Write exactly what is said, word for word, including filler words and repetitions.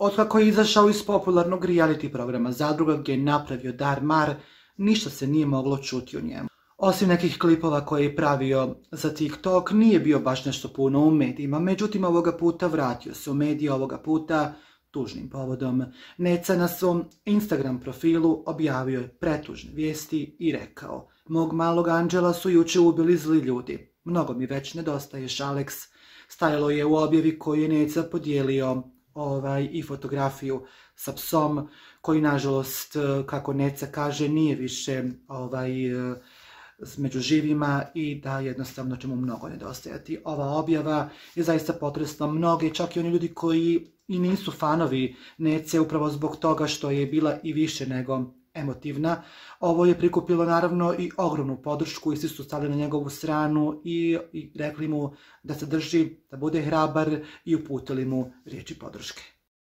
Otkako je izašao iz popularnog reality programa Zadruga gdje je napravio Dar Mar, ništa se nije moglo čuti o njemu. Osim nekih klipova koje je pravio za TikTok, nije bio baš nešto puno u medijima, međutim ovoga puta vratio se u medije, ovoga puta tužnim povodom. Neca na svom Instagram profilu objavio je pretužne vijesti i rekao: "Mog malog anđela su juče ubili zli ljudi. Mnogo mi već nedostaješ, Alex." Stajalo je u objavi koju je Neca podijelio ovaj, i fotografiju sa psom, koji nažalost, kako Neca kaže, nije više ovaj, među živima i da jednostavno će mu mnogo nedostajati. Ova objava je zaista potresla mnoge, čak i oni ljudi koji i nisu fanovi Nece, upravo zbog toga što je bila i više nego emotivna. Ovo je prikupilo naravno i ogromnu podršku i svi su stali na njegovu stranu i, i rekli mu da se drži, da bude hrabar i uputili mu riječi podrške.